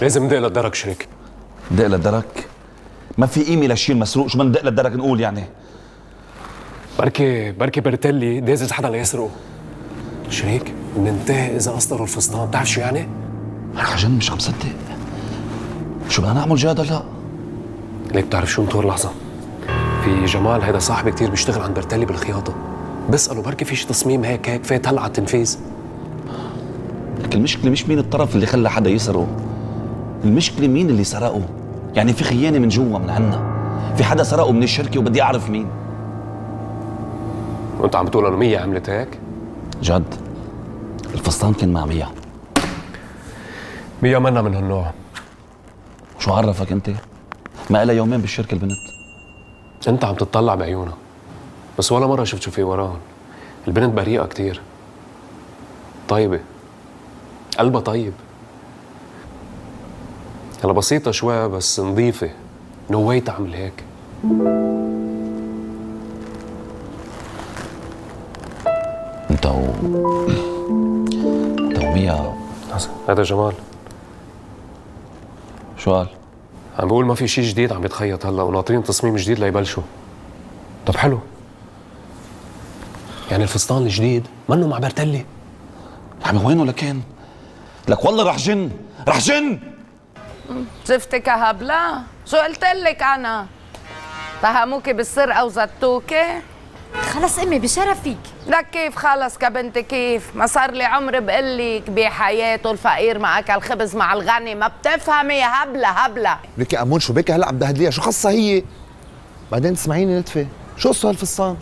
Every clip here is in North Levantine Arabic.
لازم ندق للدرك شريك. ندق للدرك؟ ما في قيمة لشي المسروق، شو بدنا ندق للدرك نقول يعني؟ بركي برتلي دازز حدا ليسرقه. شريك بننتهي إذا أسطروا الفستان، بتعرف شو يعني؟ أنا عجن مش عم صدق. شو بدنا نعمل جاد هلا؟ ليك بتعرف شو انطر لحظة؟ في جمال هيدا صاحبي كتير بيشتغل عند برتلي بالخياطة، بسأله بركي في شي تصميم هيك فات هلا على التنفيذ. لك المشكلة مش مين الطرف اللي خلى حدا يسرقه، المشكلة مين اللي سرقه. يعني في خيانة من جوا من عنا، في حدا سرقه من الشركة وبدي أعرف مين. وأنت عم بتقول إنه مية عملت هيك؟ جد الفستان كان مع مية. مية منا من هالنوع. شو عرفك أنت؟ ما إلها يومين بالشركة البنت. أنت عم تطلع بعيونها، بس ولا مرة شفت شو في وراهم. البنت بريئة كتير، طيبة، قلبها طيب، هلا بسيطة شوي بس نظيفة. نو واي تعمل هيك. انت ومية. هذا جمال. شو قال؟ عم بقول ما في شيء جديد عم يتخيط هلا وناطرين تصميم جديد ليبلشوا. طب حلو، يعني الفستان الجديد منه مع برتلي. يا عمي وينه لكان؟ لك والله رح جن رح جن. شفتك يا هبلة؟ شو قلت لك أنا؟ اتهموكي بالسرقة وزتوكي؟ خلص امي بشرفك. لك كيف خلص كبنتي كيف؟ ما صار لي عمر بقلك بحياته الفقير ما أكل خبز مع الغني، ما بتفهمي يا هبلة. لك يا أمون شو بك هلا عم تهدليها؟ شو قصة هي؟ بعدين تسمعيني لطفة، شو قصة هالفستان؟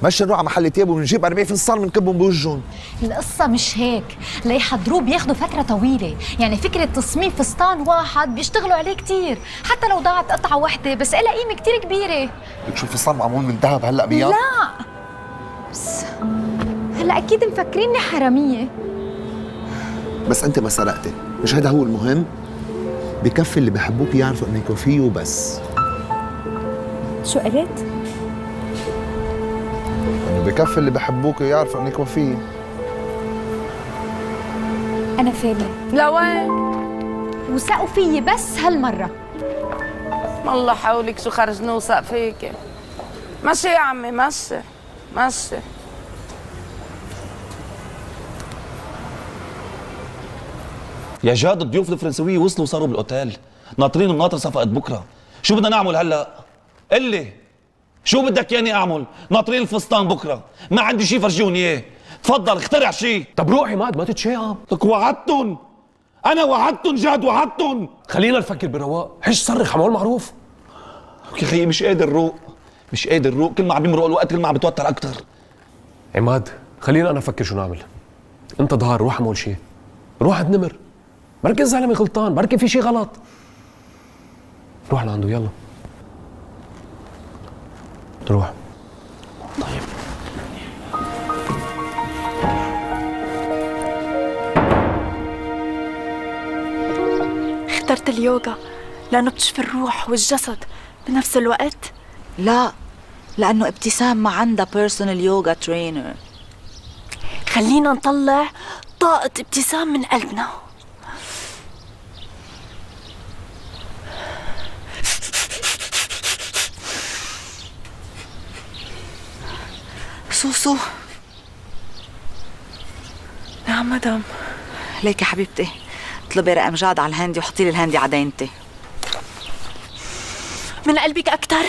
مشي نروح على محل تياب ونجيب 40 فستان بنكبهم بوجهن. القصة مش هيك، ليحضروه بياخدوا فترة طويلة، يعني فكرة تصميم فستان واحد بيشتغلوا عليه كتير، حتى لو ضاعت قطعة وحدة بس إلها قيمة كتير كبيرة. لك شو الفستان معمول من ذهب هلا بيا؟ لا بس هلا أكيد مفكريني حرامية. بس أنت ما سرقتي، مش هذا هو المهم؟ بكفي اللي بحبوك يعرفوا إنك وفيه وبس. شو قلت؟ بكفي اللي بحبوك يعرفوا انك وفيه. أنا فاهمة. لوين؟ وثقوا فيي بس هالمرة. الله حولك شو خرج نوثق فيكي. مشي يا عمي مشي. يا جاد الضيوف الفرنسوية وصلوا وصاروا بالاوتيل، ناطرين مناطر صفقة بكره. شو بدنا نعمل هلا؟ قلي شو بدك ياني اعمل؟ ناطرين الفستان بكره، ما عندي شيء فرجوني اياه، تفضل اخترع شيء. طب روح عماد ما تتشائم. لك وعدتن، انا وعدتن جاد وعدتن. خلينا نفكر برواق، حش صرخ عمول معروف. يا خيي مش قادر روق، كل ما عم يمرق الوقت كل ما عم بتوتر اكثر. عماد خلينا انا افكر شو نعمل. انت ظهر روح اعمل شيء، روح عند نمر، بركي الزلمه غلطان، بركي في شيء غلط. روح لعنده يلا. روح. طيب اخترت اليوغا لأنه بتشفي الروح والجسد بنفس الوقت؟ لا، لأنه ابتسام ما عندها بيرسونال يوغا ترينر. خلينا نطلع طاقة ابتسام من قلبنا. سوسو. نعم مدام. ليك يا حبيبتي، اطلبي رقم جاد على الهندي وحطي لي الهندي على دينتي. من قلبك أكتر؟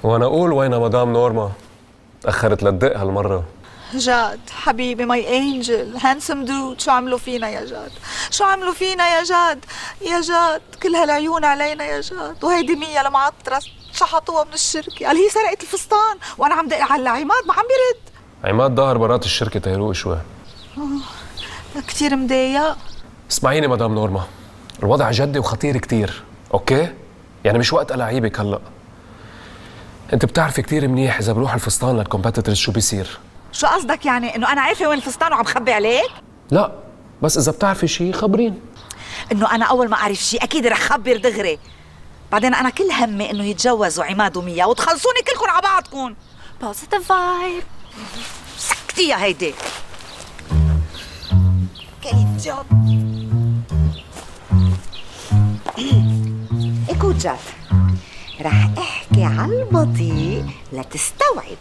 وانا اقول وين مدام نورما؟ تأخرت لتدق هالمرة. جاد حبيبي ماي انجل هانسم دود، شو عملوا فينا يا جاد؟ شو عملوا فينا يا جاد؟ يا جاد كل هالعيون علينا يا جاد، وهيدي مية المعطرة شحطوها من الشركة، قال هي سرقت الفستان وانا عم دق على عماد ما عم بيرد. عماد ظهر برات الشركة تيروق شوي. كثير مضايق. اسمعيني مدام نورما، الوضع جدي وخطير كتير، اوكي؟ يعني مش وقت ألاعيبك هلا. انت بتعرفي كتير منيح اذا بروح الفستان للكومبيتيتورز شو بيصير. شو قصدك يعني؟ انه انا عارفه وين الفستان وعم خبي عليك؟ لا بس اذا بتعرفي شيء خبرين. انه انا اول ما اعرف شيء اكيد رح خبر دغري. بعدين انا كل همي انه يتجوزوا عماد وميا وتخلصوني كلكم على بعضكم. بوزيتيف فايب. سكتي يا هيدي. كيف جد؟ اكو جد رح احكي على البطيء لتستوعب.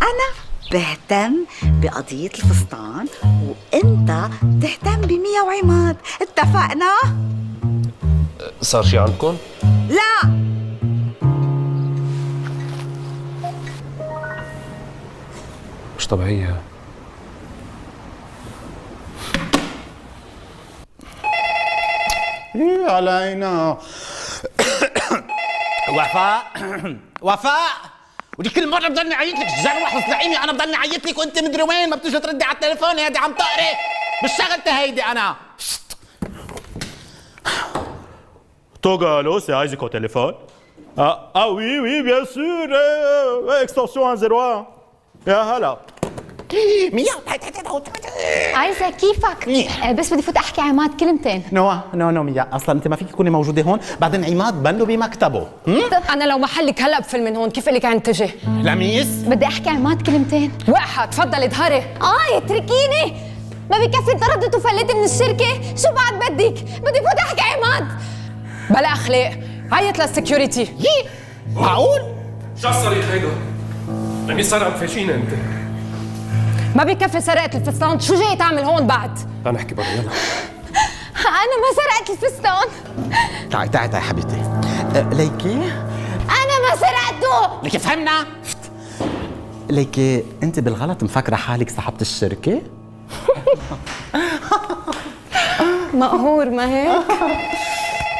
انا بهتم بقضية الفستان وانت بتهتم بميا وعماد، اتفقنا؟ صار شي عندكم؟ لا. مش طبيعية. ايه علينا. وفاء وفاء، ودي كل مرة بضلني عيط لك جروح وزعيمي، أنا بضلني عيط لك وأنت مدري وين، ما بتيجي تردي على التليفون، هيدي عم تقري بالشغلة هيدي أنا. توغا الو، سي ايزك au téléphone. Ah oui oui bien sûr, extension 101. يا هلا. ميا عايزة كيفك؟ بس بدي فوت احكي عماد كلمتين. نو ميا، اصلا انت ما فيك تكوني موجوده هون، بعدين عماد بنه بمكتبه. انا لو محلك هلا بفل من هون، كيف لك عن تجي؟ لميس بدي احكي عماد كلمتين. وقحة تفضلي ظهري. اتركيني، ما بكفي انطردت وفلت من الشركة، شو بعد بدك؟ بدي فوت احكي عماد. بلا اخلاق، عيط للسكيورتي. معقول؟ شو الصريخ هيدا؟ لمين صار عم تفاشينا انت؟ ما بكفي سرقت الفستان، شو جاي تعمل هون بعد؟ تعال نحكي برا يلا. انا ما سرقت الفستان. تعي حبيبتي. ليكي انا ما سرقته. ليكي فهمنا؟ ليكي انت بالغلط مفكره حالك صاحبة الشركة؟ مقهور ما هيك؟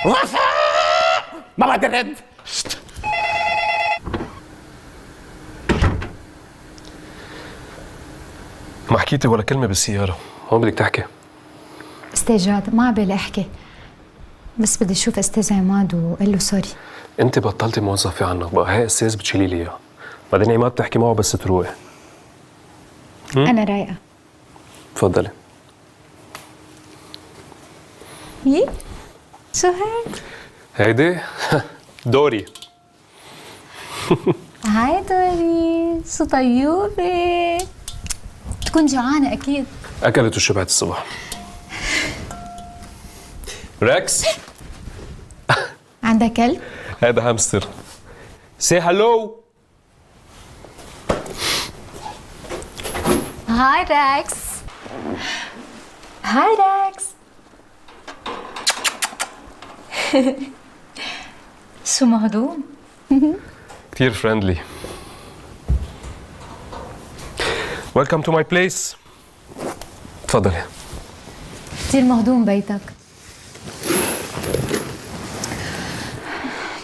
وفاء ما بدي رد. ما حكيتي ولا كلمة بالسيارة، هون بدك تحكي. استاذ جاد ما عبالي احكي، بس بدي اشوف استاذ عماد وقول له سوري. انت بطلتي موظفة عنك بقى، هي استاذ بتشيلي لي اياه، بعدين عماد بتحكي معه بس تروقي. انا رايقة. تفضلي. يي شو هيك؟ هيدي دوري. هاي دوري، شو طيوبة. تكون جوعانة أكيد. أكلت وشبعت الصبح. ريكس. عندك كلب؟ هذا هامستر. سي هالو. هاي ريكس. هاي ريكس. شو مهضوم؟ كتير فريندلي. ويلكم تو ماي بليس. تفضلي. كتير مهضوم بيتك.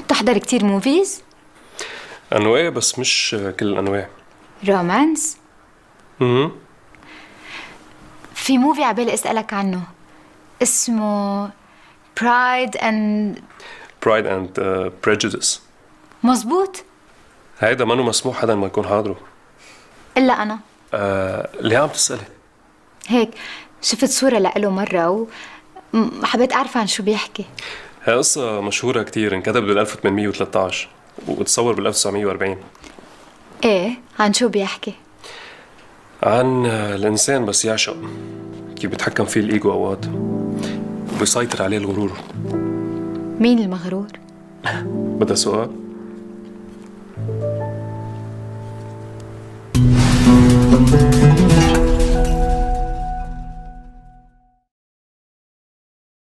بتحضر كتير موفيز؟ أنواع بس مش كل الأنواع. رومانس؟ في موفي عبالي أسألك عنه اسمه برايد اند بريجوديس. مزبوط؟ هيدا منو مسموح حدا ما يكون حاضره. إلا أنا. ليه عم تسألي؟ هيك شفت صورة لإله مرة وحبيت أعرف عن شو بيحكي. هي قصة مشهورة كتير، انكتب بال 1813 وتصور بال 1940. إيه، عن شو بيحكي؟ عن الإنسان بس يعشق، كيف بيتحكم فيه الإيجو أوقات وبيسيطر عليه الغرور. مين المغرور؟ بدها سؤال؟